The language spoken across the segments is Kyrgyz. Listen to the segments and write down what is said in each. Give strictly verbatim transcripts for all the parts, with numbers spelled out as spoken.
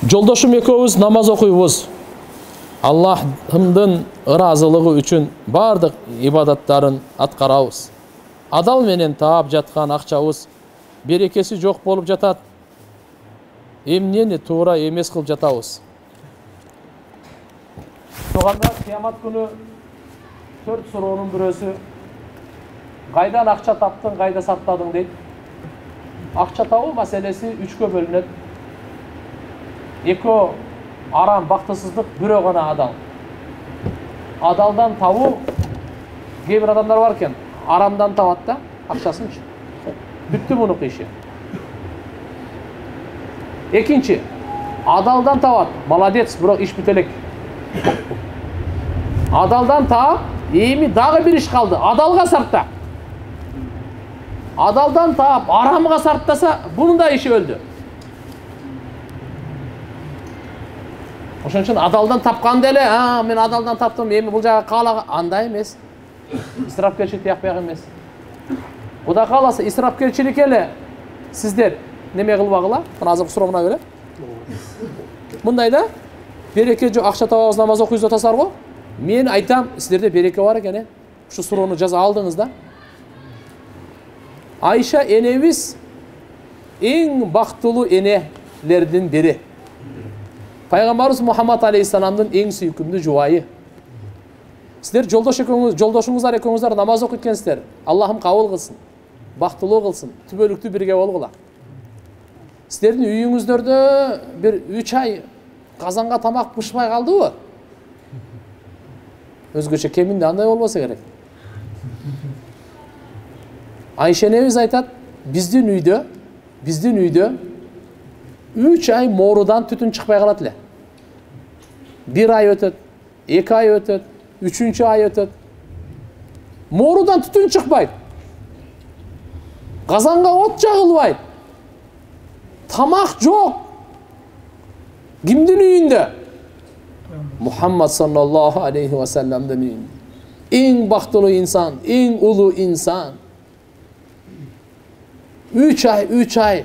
Жолдошум экөөбүз намаз окуйбуз. Аллахтын ыраазылыгы үчүн бардык ибадаттарын аткарабыз. Адал менен таап жаткан акчабыз берекеси жок болуп жатат. Эмнени туура эмес кылып жатабыз. Соганда кыямат күнү төрт суроонун бирөөсү кайдан акча таптың, кайда сактадың дейт. Акча табуу маселеси үчкө бөлүнөт. Экөө арам, бактысыздык, бирөө гана адал. Адалдан табуу кээ бир адамдар бар экен, арамдан табат да акчасынчы. Бүттү мунук иши. Экинчи, адалдан табат, молодец, бирок иш бүт элек. Адалдан таап, эми дагы бир иш калды, адалга сарта. Адалдан таап, арамга сартаса, бунун да иши өлдү. Ошон үчүн адалдан тапканда эле, а, мен адалдан таптым, эми бул жага каалага, андай эмес. Исрапкерчилик тиякпай эмес. Кудай кааласа, исрапкерчилик эле сиздер неме кылбагыла, азыркы суроо мына беле. Мындай да, береке жок, акча табабыз, намаз окуйбуз атасыздар го. Мен айтам, сиздерде береке бар экен, э. Ушу суроону жаза алдыңыз да. Айша энебиз эң бактылуу энелердин бири. Пайгамбарыбыз Мухаммад алейхиссаламдын эң сүйкүмдүү жубайы. Сиздер жолдош экөөңүз, жолдошуңуздар экөөңүздар намаз окуйт экенсиздер. Аллахым кабыл кылсын, бактылуу кылсын, түбөлүктүү бирге болгула. Сиздердин үйүңүздөрдө бир үч ай казанга тамак бышпай калдыбы? Өзгөчө кеминде андай болбосо керек. Айша энебиз айтат, биздин үйдө, биздин үйдө үч ай моорудан түтүн чыкпай калат эле. Бир ай өтөт, эки ай өтөт, үчүнчү ай өтөт. Моорудан түтүн чыкпайт. Казанга от жагылбайт. Тамак жок. Кимдин үйүндө? Мухаммад саллаллаху алейхи ва салламдын үйүндө. Эң бактылуу инсан, эң улуу инсан. Үч ай, үч ай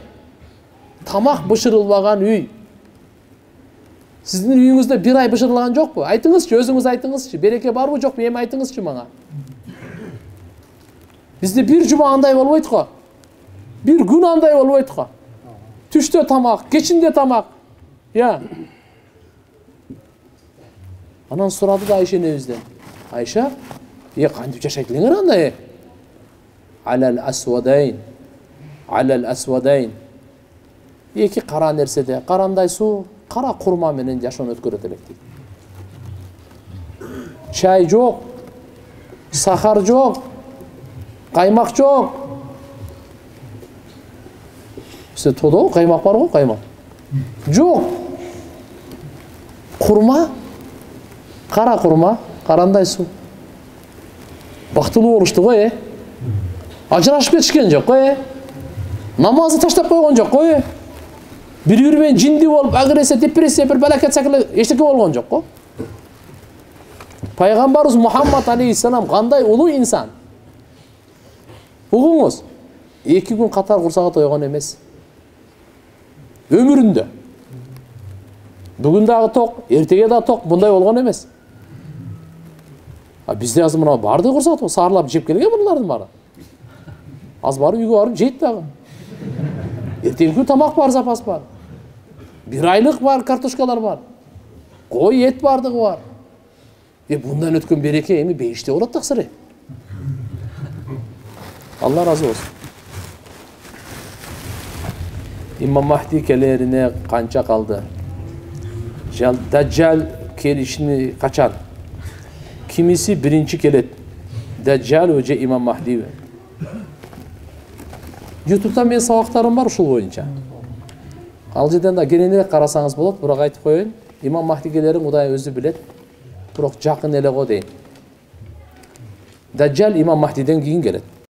тамак бышырылбаган үй. Сиздин үйүңүздө бир ай бышырылган жокпу? Айтыңызчы, өзүңүз айтыңызчы. Береке барбы жокпу? Эми айтыңызчы мага. Бизде бир жума андай болбойт го. Бир күн андай болбойт го. Түштө тамак, кечинде тамак. Я. Анан сурады да Айша энебизден. Айша, е кантип жашайт элеңер андай? Алал асвадайн. Алал асвадайн. Эки кара нерседе, карандай суу, кара курма менен жашоону өткөрөт элек дейт. Чай жок, сахар жок, каймак жок. Сиз тодо каймак бар го, каймак. Жок. Курма, кара курма, карандай суу. Бактылуу болушту го, э. Ажырашып кетишкен жок го, э. Намазды таштап койгон жок го, э. Бири-бири менен жинди болуп, агрессия, депрессия, бир балакет сакылы эчтеке болгон жок го. Пайгамбарыбыз Мухаммад алейхиссалам кандай улуу инсан. Угуңуз, эки күн катар курсага тойгон эмес. Өмүрүндө. Бүгүн дагы ток, эртеге да ток, мындай болгон эмес. А бизде азыр мына барды курсак ток, саарлап жеп келген булардын баары. Аз барып үйгө барып жейт дагы. Эртеги күн тамак бар, запас бар. Бир айлык бар, картошкалар бар. Кой эт бардыгы бар. Е мындан өткөн береке эми бейиште болот таксыры. Алла разы болсун. Имам Махди келерине канча калды? Даджал келишини качан? Кимиси биринчи келет? Даджал же Имам Махди? YouTube'дан мен сабактарым бар ушул боюнча. Ал жерден да кененирээк карасаңыз болот, бирок айтып коеюн, Имам Махди келерин Кудай өзү билет, бирок жакын эле го дейм. Даджал Имам Махдиден кийин келет.